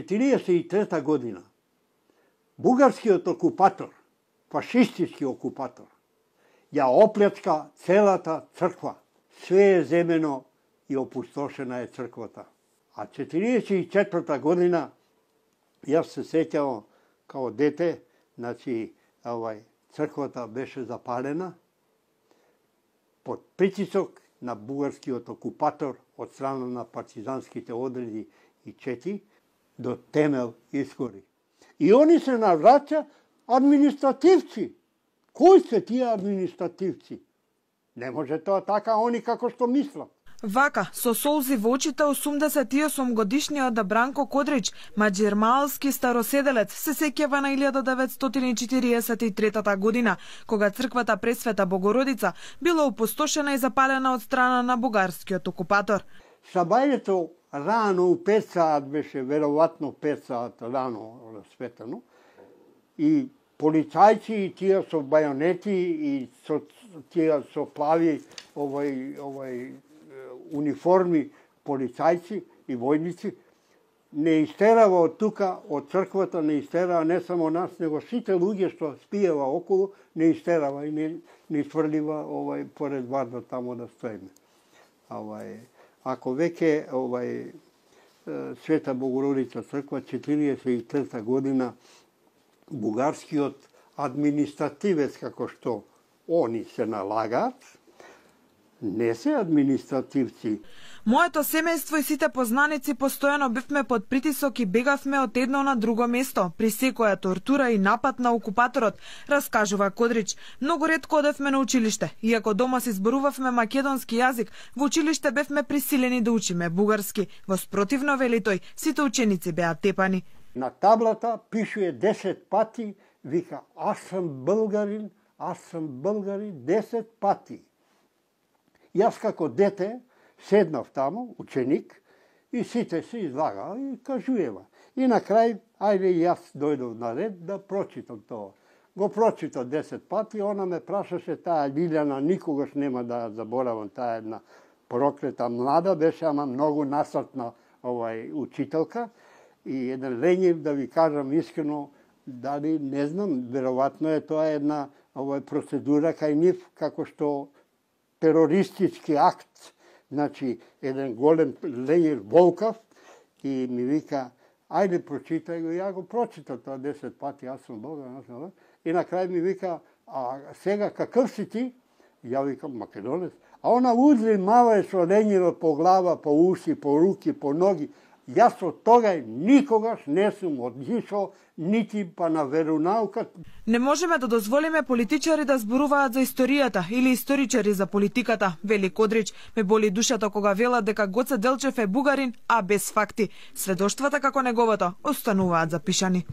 1943 година бугарскиот окупатор, фашистички окупатор, ја оплячка целата црква. Све е земено и опустошена е црквата. А 1944 година, јас се сеќавам као дете, значи, црквата беше запалена под притисок на бугарскиот окупатор од страна на партизанските одреди и чети, до темел искори. И они се навраќа административци. Кои се тие административци? Не може тоа така, они како што мислат. Вака, со солзи во очите, 88 годишниот Бранко Кодрич, маđермалски староседелец, се сеќава на 1943 година, кога црквата Пресвета Богородица била опустошена и запалена од страна на бугарскиот окупатор. Сабајето рано у 5 саат беше, веројатно 5 саат рано расветено, и полицајци и тие со бајонети и со тие со плави униформи полицајци и војници не истерава од тука, од црквата не истерава не само нас, него сите луѓе што спиева околу, не истерава и не сврлива поред варда тамо да стоиме. Ако веќе Света Богородица црква 43 година, бугарскиот административец, како што они се налагаат, не се административци. Моето семејство и сите познаници постојано бевме под притисок и бегавме од едно на друго место, при секоја тортура и напад на окупаторот, раскажува Кодрич. Многу ретко одевме на училиште, иако дома си зборувавме македонски јазик, во училиште бевме присилени да учиме бугарски. Во спротивно, вели тој, сите ученици беа тепани. На таблата пишуе 10 пати, вика, аз сум българин 10 пати. Јас како дете седнав таму, ученик, и сите се излагаа и кажуева. И на крај, ајде јас дојдов на ред да прочитам тоа. Го прочитав 10 пати, она ме прашаше, таа Лилјана, никогаш нема да заборавам, таа една проклета млада беше, ама многу насатна учителка, и еден ленив, да ви кажам искрено, дали не знам, веројатно е тоа една процедура кај нив, како што терористички акт, значи еден голем ленир волкав, и ми вика, ајде прочитај го, ја го прочитав тоа 10 пати, јас сум българин, и на крај ми вика, а сега какъв си ти? Ја викам, македонец. А она узли мава со ленива по глава, по уши, по руки, по ноги. Јас од тога никогаш не сум одишол нити па на веронаука. Не можеме да дозволиме политичари да зборуваат за историјата или историчари за политиката, вели Кодрич. Ме боли душата кога велат дека Гоце Делчев е бугарин, а без факти. Сведоштвата како неговото остануваат запишани.